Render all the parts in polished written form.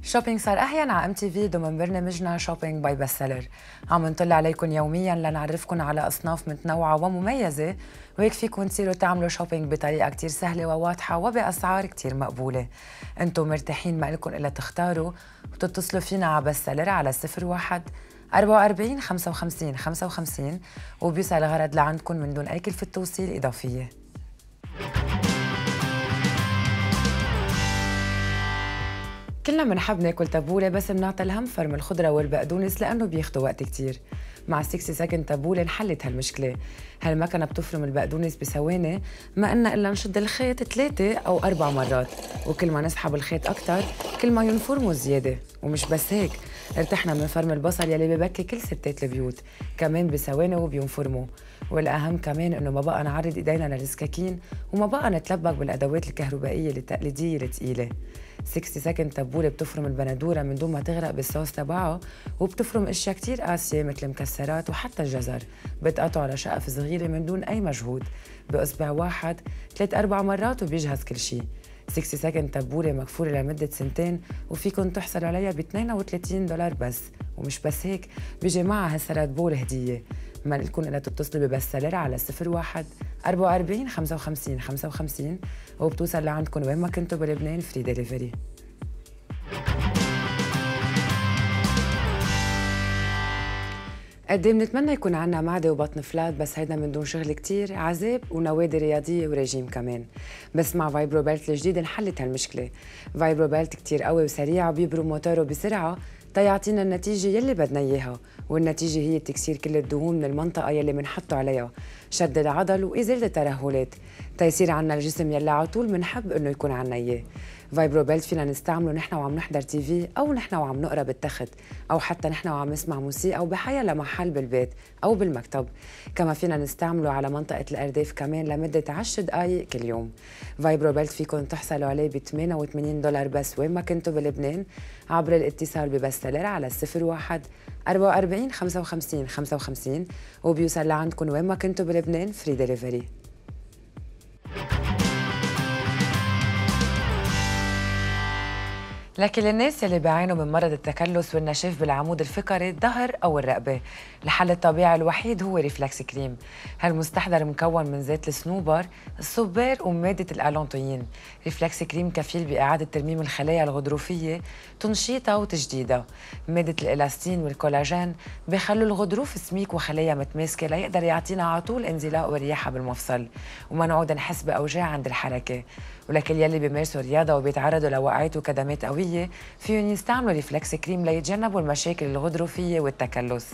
شوبينج صار أحيان على MTV ضمن برنامجنا شوبينج باي بست سيلر. عم نطلع عليكم يوميا لنعرفكم على أصناف متنوعة ومميزة، وهيك فيكم تصيروا تعملوا شوبينج بطريقة كتير سهلة وواضحة وبأسعار كتير مقبولة. انتم مرتاحين، ما لكم إلا تختاروا وتتصلوا فينا على بست سيلر على 01 44 55 55 وبيوصل الغرض لعندكم من دون أي كلفة توصيل إضافية. كلنا بنحب ناكل تبولة، بس بنعطي الهم فرم الخضرة والبقدونس لأنه بياخدوا وقت كتير. مع 60 سكند تبولة انحلت هالمشكلة. هالمكنة بتفرم البقدونس بثواني، ما إلنا إلا نشد الخيط 3 أو 4 مرات، وكل ما نسحب الخيط أكتر كل ما ينفرموا زيادة. ومش بس هيك، ارتحنا من فرم البصل يلي ببكي كل ستات البيوت، كمان بثواني وبينفرموا. والأهم كمان إنه ما بقى نعرض إيدينا للسكاكين، وما بقى نتلبك بالأدوات الكهربائية التقليدية الثقيلة. 60 سكند تبولة بتفرم البندورة من دون ما تغرق بالصوص تبعها، وبتفرم اشياء كتير قاسية مثل المكسرات وحتى الجزر، بتقطعه على شقف صغيرة من دون أي مجهود بإصبع واحد 3-4 مرات وبيجهز كل شيء. 60 سكند تبولة مكفولة لمدة 2 سنين، وفيكن تحصلوا عليها ب $32 بس. ومش بس هيك، بيجي معها هالسلاد بول هدية. ما لكم إلا تتصلوا ببست سيلر على 01 44 55 55 وبتوصل لعندكم وين ما كنتوا بلبنان فري ديليفري. قد ايه بنتمنى يكون عنا معدة وبطن فلات، بس هيدا من دون شغل كتير عذاب ونوادي رياضية وريجيم كمان. بس مع فايبرو بيلت الجديد انحلت هالمشكلة. فايبرو بيلت كتير قوي وسريع وبيبرم موتوره بسرعة تيعطينا النتيجة يلي بدنا إياها، والنتيجة هي تكسير كل الدهون من المنطقة يلي منحطه عليها، شد العضل وإزالة الترهلات، تيصير عنا الجسم يلي على طول منحب إنه يكون عنا إياه. فايبرو بيلت فينا نستعمله نحن وعم نحضر TV، أو نحن وعم نقرا بالتخت، أو حتى نحن وعم نسمع موسيقى، أو بحيا لمحل بالبيت أو بالمكتب. كما فينا نستعمله على منطقة الأرداف كمان لمدة 10 دقايق كل يوم. فايبرو بيلت فيكم تحصلوا عليه ب $88 بس وين ما كنتوا بلبنان، عبر الاتصال ببست سيلر على 01 44 55 55 وبيوصل لعندكم وين ما كنتوا بلبنان فري ديليفري. لكن للناس يلي بيعانوا من مرض التكلس والنشاف بالعمود الفقري، الظهر أو الرقبة، الحل الطبيعي الوحيد هو ريفلكس كريم. هالمستحضر مكون من زيت الصنوبر، الصبار ومادة الألونتوين. ريفلكس كريم كفيل بإعادة ترميم الخلايا الغضروفية، تنشيطها وتجديدها. مادة الإلاستين والكولاجين بيخلوا الغضروف سميك وخلايا متماسكة ليقدر يعطينا على طول انزلاق ورياحة بالمفصل، وما نعود نحس بأوجاع عند الحركة. ولكن يلي بيمارسوا رياضة وبيتعرضوا لوقعات وكدمات قوية، فيهم يستعملوا ريفلكس كريم ليتجنبوا المشاكل الغضروفية والتكلس.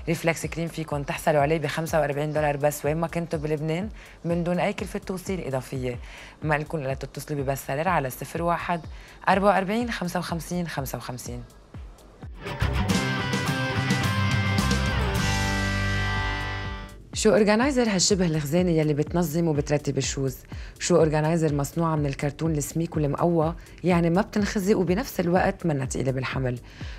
ريفلكس كريم فيكم تحصلوا عليه ب $45 بس وين ما كنتوا بلبنان من دون أي كلفة توصيل إضافية. ما لكم إلا تتصلوا ببست سيلر على 01 44 55 55. شو أورجانايزر هالشبه الخزانة يلي بتنظم وبترتب الشوز. شو أورجانايزر مصنوعة من الكرتون السميك والمقوى، يعني ما بتنخزي وبنفس الوقت منا تقيلة بالحمل.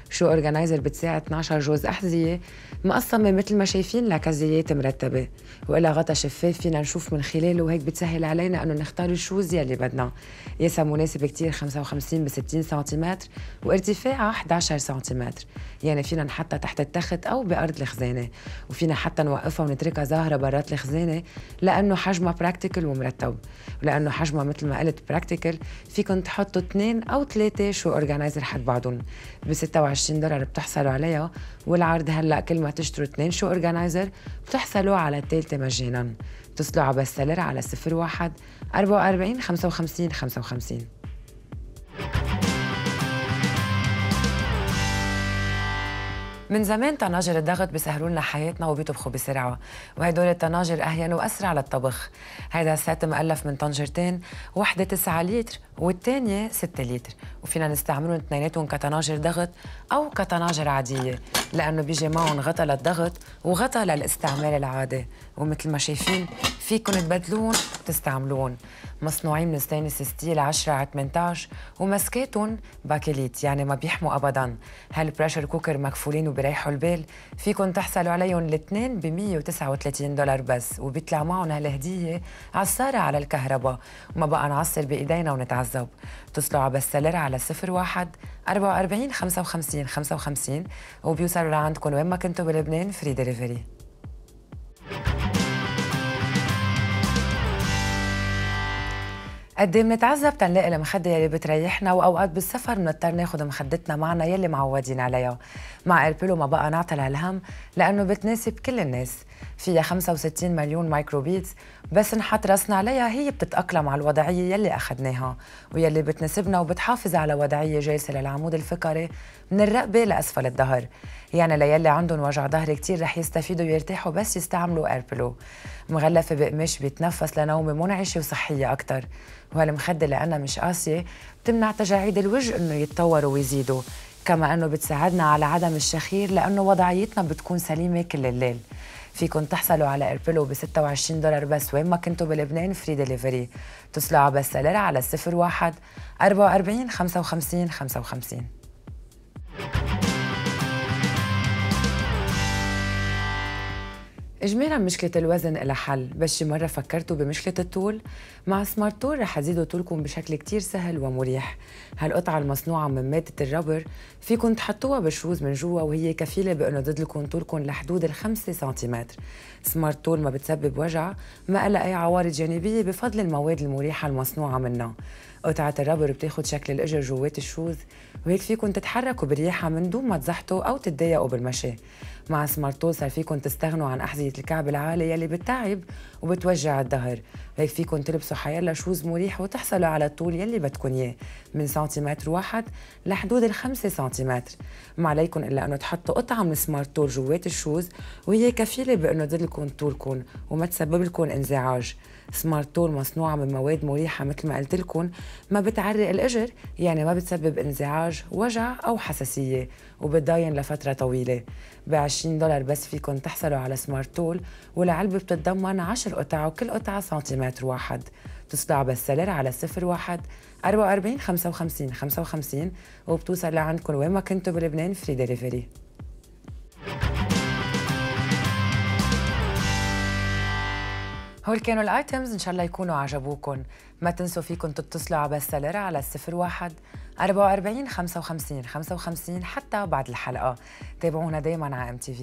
شو أورجانايزر بتساعد 12 جوز أحذية مقسمة مثل ما شايفين لكزيات مرتبة، وإلها غطا شفاف فينا نشوف من خلاله، وهيك بتسهل علينا إنه نختار الشوز يلي بدنا. قياسها مناسب كتير، 55 ب60 سنتيمتر وارتفاعها 11 سنتيمتر، يعني فينا نحطها تحت التخت أو بأرض الخزانة، وفينا حتى نوقفها ونتركها ظاهرة برات الخزانة لأنه حجمها براكتيكل ومرتب. ولأنه حجمها مثل ما قلت براكتيكل، فيكن تحطوا 2 أو 3 شو أورجانايزر حد بعضهم. ب $26 بتحصلوا عليها، والعرض هلأ كل ما تشتروا 2 شو أورجانايزر بتحصلوا على الثالثة مجانا. اتصلوا على بست سيلر على 01 44 55 55. من زمان طناجر الضغط بيسهلوا لنا حياتنا وبيطبخوا بسرعه، وهدول الطناجر اهين واسرع للطبخ. هيدا السات مؤلف من طنجرتين، وحده 9 لتر والثانيه 6 لتر، وفينا نستعملهم اثنيناتهم كطناجر ضغط او كطناجر عاديه، لانه بيجي معهم غطا للضغط وغطا للاستعمال العادي. ومثل ما شايفين فيكن تبدلون وتستعملون. مصنوعين من ستانلس ستيل 10x18 ومسكاتهم باكليت يعني ما بيحموا ابدا. هالبريشر كوكر مكفولين وبريحوا البال، فيكن تحصلوا عليهم الاثنين ب $139 بس، وبيطلع معهم هالهديه عصاره على الكهرباء وما بقى نعصر بايدينا ونتعذب. اتصلوا على بستسيلر على 01 44 55 55 وبيوصلوا لعندكم وين ما كنتوا بلبنان فري دليفري. قد ايه منتعذب تنلاقي المخدة يلي بتريحنا، واوقات بالسفر بنضطر ناخد مخدتنا معنا يلي معودين عليها. مع ايربيلو ما بقى نعطل هالهم لانه بتناسب كل الناس، فيها 65 مليون مايكروبيتس، بس نحط راسنا عليها هي بتتأقلم على الوضعية يلي اخذناها ويلي بتناسبنا، وبتحافظ على وضعية جالسة للعمود الفقري من الرقبة لأسفل الظهر. يعني ليلي عندهم وجع ظهر كتير رح يستفيدوا ويرتاحوا بس يستعملوا ايربيلو. مغلفة بقماش بيتنفس لنومة منعشة وصحية أكتر، وهالمخدة لأنها مش قاسية بتمنع تجاعيد الوجه إنه يتطوروا ويزيدوا، كما إنه بتساعدنا على عدم الشخير لأنه وضعيتنا بتكون سليمة كل الليل. فيكن تحصلوا على ايربيلو ب $26 بس وين ما كنتوا بلبنان فري دليفري. اتصلوا على بستسيلر على 01 44 55 55. إجمالاً مشكلة الوزن إلها حل، بس شي مرة فكرتوا بمشكلة الطول؟ مع سمارت تول رح تزيدوا طولكم بشكل كتير سهل ومريح. هالقطعة المصنوعة من مادة الربر فيكن تحطوها بالشوز من جوا، وهي كفيلة بأنه تزيدلكم طولكم لحدود 5 سنتيمتر. سمارت تول ما بتسبب وجع، ما إلها أي عوارض جانبية بفضل المواد المريحة المصنوعة منها. قطعة الربر بتاخد شكل الإجر جوات الشوز، وهيك فيكن تتحركوا برياحة من دون ما تزحطوا أو تتضايقوا بالمشي. مع سمارت تول صار فيكن تستغنوا عن أحذية الكعب العالي يلي بتتعب وبتوجع الظهر، وهيك فيكن تلبسوا حيلا شوز مريح وتحصلوا على الطول يلي بدكن إياه من سنتيمتر واحد لحدود 5 سنتيمتر. ما عليكن إلا أنه تحطوا قطعة من سمارت تول جوات الشوز، وهي كفيلة بأنه تزيدلكم طولكم وما تسبب لكم انزعاج. سمارت تول مصنوعة من مواد مريحة مثل ما قلت لكم، ما بتعرق الإجر يعني ما بتسبب انزعاج، وجع أو حساسية، وبتضاين لفترة طويلة. $20 بس فيكن تحصلوا على سمارت تول، والعلبة بتتضمن 10 قطع وكل قطعة سنتيمتر واحد. اتصلوا على بستسيلر على 01 44 55 55 وبتوصل لعندكم وين ما كنتوا بلبنان فري دليفري. هول كانوا الايتمز، ان شاء الله يكونوا عجبوكم. ما تنسوا فيكم تتصلوا على بستسيلر على 01 44 55 55 حتى بعد الحلقة. تابعونا دايما على MTV.